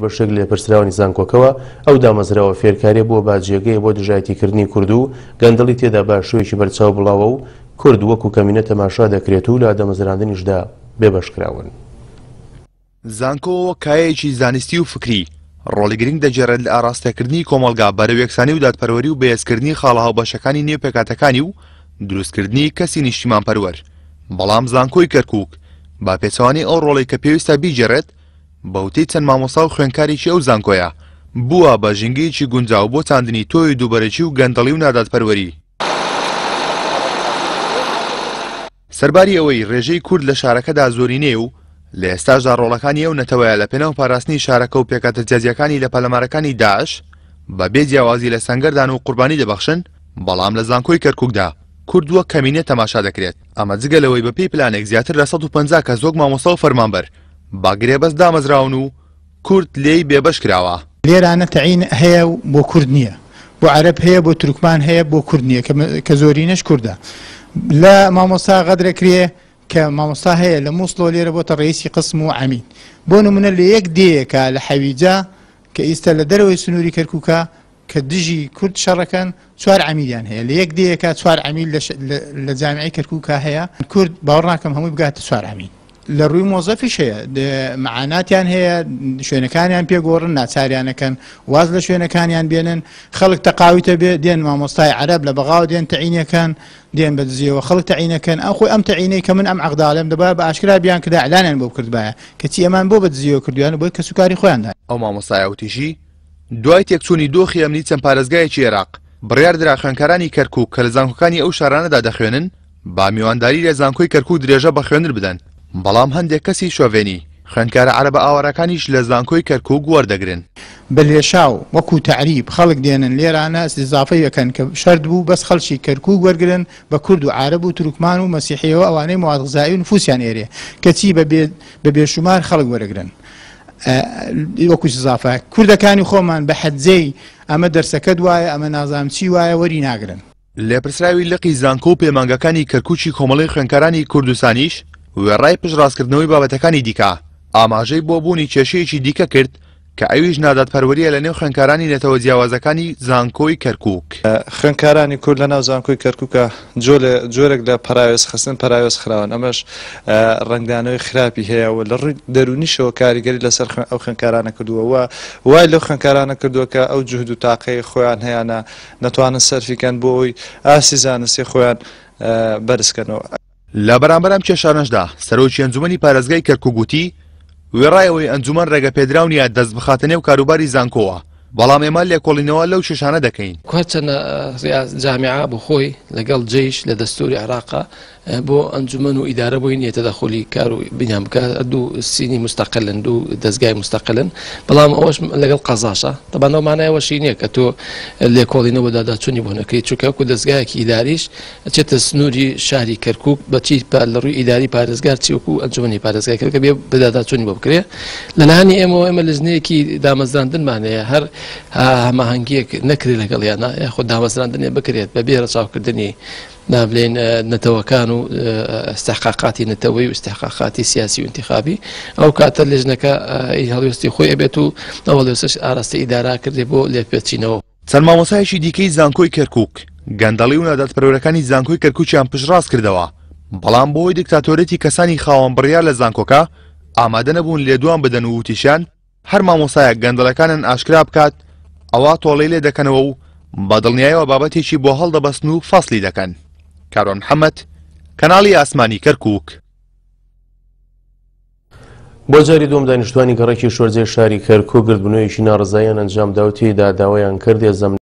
بەشێک لە لێپرسراوانی زانکۆکەوە، ئەو دامەزراوە فێرکاریە بووە بە جێگەیە بۆ دژایەتیکردنی کورد و گەندەڵی تێدا بە شێوەیەکی بەرچاو بڵاوە و کورد وەکو کەمینە تەماشا دەکرێت و لە دامەزراندنیشدا بێبەشکراون. زانکۆ وەک کایەیەکی زانستی و فکری، ڕۆڵی گرنگ دەگێڕێت لە ئاڕاستەکردنی کۆمەڵگا بەرەو یەکسانی و دادپەروەری و بەهێزکردنی خاڵە هاوبەشەکانی نێو پێکهاتەکانی و دروستکردنی کەسی نیشتیمانپەروەر، بەڵام زانکۆی کەرکوک بە پێچەوانەی ئەو ڕۆڵەی کە پێویستە بیگێڕێت، بە وتەی چەند مامۆستا و خوێندکارێکی ئەو زانکۆیە، بووە بە ژینگەیەکی گونجاو بۆ چاندنی تۆوی دووبەرەکی و گەندەڵی و نادادپەروەری. سەرباری ئەوەی رێژەی کورد لە شارەکەدا زۆرینەیە و لە ئێستاشدا رۆڵەکانی ئەو نەتەوەیە لە پێناو پاراستنی شارەکە و پێکهاتە جیاجیاکانی لە پەلامارەکانی داعش بە بێ جیاوازی لە سەنگەردان و قوربانی دەبەخشن، بەڵام لە زانکۆی کەرکوکدا کورد وەک کەمینە تەماشا دەکرێت، ئەمە جگە لەوەی بەپێی پلانێک زیاتر لە 150 کەس وەک مامۆستا و فەرمانبەر بە گرێبەست دامەزراون و کورد لێی بێبەش کراوە. لێرانە تەعین هەیە و بۆ کورد نییە، بۆ عەرەب هەیە، بۆ تورکمان هەیە، بۆ کورد نییە کە زۆرینەش کوردە. لە مامۆستا غەدرەکرێ کە مامۆستا هەیە لە مووسڵەوە لێرە بۆتە ڕەئیسی قسم و عەمید. بۆ نموونە لە یەک دێیەکا لە حەویجە کە ئیستا لە دەرەوەی سنووری کەرکووکە کە دژی کورد شەڕەکەن چوار عەمیدیان هەیە لە یەک دێیەکا چوار عەمید لە جامیعەی کەرکووکا هەیە کورد باوەڕ ناکەم هەمووی بگاتە چوار عەمید. لە ڕووی مۆزەفیش هەیە معاناتیان هەیە شوێنەکانیان پێگۆڕن ناچاریانەکەن واز لە شوێنەکانیان بێنن خەڵک تەقاویتە بێ دێن مامۆستای عەرەب لە بەغاوە دێن تەعینەکەن دێن بە دزیەوە خەڵک تەعینەکەن ئەم خۆی ئەم تەعینەی کە من ئەم عەقداڵێم دەبا بە ئاشکرا بیان کردا ئیعلانیان بۆ بکردبایە کەچی ئەمان بۆ بە دزیەوە کردویان بۆی کەسوکاری خۆیان دان. ئەو مامۆستایە وتیشی، دوای تێکچوونی دۆخی ئەمنی چەند پارێزگایەکی عێراق، بڕیاردرا خوێندکارانی کەرکوک کە لە زانکۆکانی ئەو شارانەدا دەخوێنن، بە میوانداری لە زانکۆی کەرکوک درێژە بە خوێندن بدەن، بەڵام هەندێک کەسی شۆڤێنی، خوێندکارە عەرەبە ئاوارەکانیش لە زانکۆی کەرکوک وەردەگرن. بە لێشاو وەکو تەعریب خەڵک دێنن لێرانە ئیستیزافەی ئەکەن کە شەرت بوو بەس خەڵکی کەرکوک وەرگرن بە کورد و عارەب و تورکمان و مەسیحیەوە ئەوانەی مواد غذائی و نفوسیان ئێرێ کەچی بە بێ بە بێشومار خەڵک وەرەگرن وەکو ئیستیزافە کوردەکانی خۆمان بە حەجەی ئەمە دەرسەکەت وایە ئەمە نازانم چی وایە وەری ناگرن. لێپرسراوی لقی زانکۆ و پەیمانگاکانی کەرکوکی کۆمەڵەی خوێندکارانی کوردستانیش وێڕای پشتڕاستکردنەوەی بابەتەکانی دیکە ئاماژەی بۆ بوونی کێشەیەکی دیکە کرد کە ئەویش نادادپەروەرییە لەنێو خوێندکارانی نەتەوە جیاوازەکانی زانکۆی کەرکوک. خوێندکارانی کورد لەناو زانکۆی کەرکوکا جۆرێک لە پەراوێزخستن پەراوێز خراون، ئەمەش ڕەنگدانەوەی خراپی هەیە و لە ڕووی دەروونیشەوە کاریگەری لەسەر ئەو خوێندکارانە کردووە و وای لەو خوێندکارانە کردووە کە ئەو جوهد و تاقەی خۆیان هەیانە نەتوانن سەرفی کەن بۆ ئەوەی ئاستی زانستی خۆیان بەرز کەنەوە. لە بەرامبەر ئەم کێشانەشدا سەرۆکی ئەنجومەنی پارێزگای کەرکوک وتی، وێڕای ئەوەی ئەنجومەن ڕێگەپێدراو نییە دەست بخاتە نێو کاروباری زانکۆوە، بەڵام ئێمە لێکۆڵینەوە لەو کێشانە دەکەین. هەرچەندە جامیعە بۆ خۆی لەگەڵ جەیش لە دەستوری عێراقا بۆ ئەنجومەن و ئیدارە بۆی نییە تەدەخولی کار و بینیان بکات، دوو سینی مستەقلن، دوو دەزگای مستەقلن، بەڵام ئەوەش لەگەڵ قەزاشە. تەبعەن ئەو مانای ئەوەشی نییە کە تۆ لێکۆڵینەوە بەدواداچوونی بۆ نەکەیت، چونکە وەکو دەزگایەکی ئیداریش ئەچێتە سنووری شاری کەرکووک بە چی لە ڕووی ئیداری پارێزگار چی وەکو ئەنجومەنی پارێزگای کەرکووک بێ بەدواداچوونی بۆ بکرێ. لەلایەنی ئێمەوە ئێمە لیژنەیەکی دامەزراندنمان هەیە، هەر هەماهەنگییەک نەکرێت لەگەڵیانە یاخود دامەزراندنێ بکرێت بەبێ ڕەچاوکردنی نابلێن نەتەوەکان و ئیستحقاقاتی نەتەوەی و ئیستحقاقاتی سیاسی و ئینتخابی، ئەو کاتە لیژنەکە هەڵوێستی خۆی ئەبێت و ئەو هەڵوێستەش ئاراستەی ئیدارە کردێ بۆ لێپێچینەوە. چەند مامۆستایەکی دیکەی زانکۆی کەرکوک گەندەڵی و نادادپەروەرەکانی زانکۆی کەرکوکیان پشتڕاست کردەوە، بەڵام بەهۆی دیکتاتۆریەتی کەسانی خاوەن بڕیار لە زانکۆکە ئامادە نەبوون لێدوان بدەن و وتیشیان هەر مامۆستایەک گەندەڵەکانیان ئاشکرا بکات ئەوا تۆڵەی لێ دەکەنەوە و بە دڵنیایەوە بابەتێکی بۆ هەڵدەبەستن و فەسلی دەکەن. کاروان محەمەد، کەناڵی ئاسمانی کەرکوک. بۆ جاری دووەم دانیشتوانی گەڕەکی شۆرجەی شاری کەرکوک گردبوونەوەیەکی ناڕەزاییان ئەنجامدا و تێیدا داوایان کرد هێزە.